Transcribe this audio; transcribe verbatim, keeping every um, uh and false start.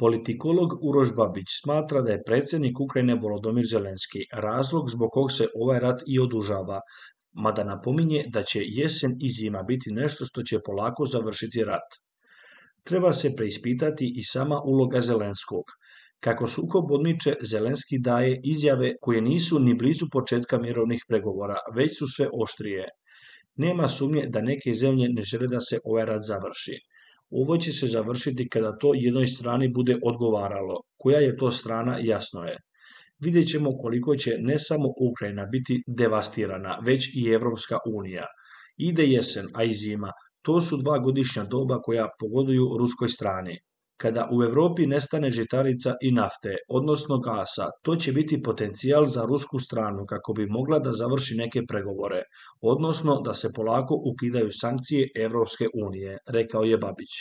Politikolog Uroš Babić smatra da je predsjednik Ukrajine Volodymyr Zelenski razlog zbog kog se ovaj rat i odužava, mada napominje da će jesen i zima biti nešto što će polako završiti rat. Treba se preispitati i sama uloga Zelenskog. Kako sukob odmiče, Zelenski daje izjave koje nisu ni blizu početka mirovnih pregovora, već su sve oštrije. Nema sumnje da neke zemlje ne žele da se ovaj rat završi. Ovo će se završiti kada to jednoj strani bude odgovaralo. Koja je to strana, jasno je. Vidjet ćemo koliko će ne samo Ukrajina biti devastirana, već i Evropska unija. Ide jesen, a i zima. To su dva godišnja doba koja pogoduju ruskoj strani. Kada u Europi nestane žitarica i nafte, odnosno gasa, to će biti potencijal za rusku stranu kako bi mogla da završi neke pregovore, odnosno da se polako ukidaju sankcije Evropske unije, rekao je Babić.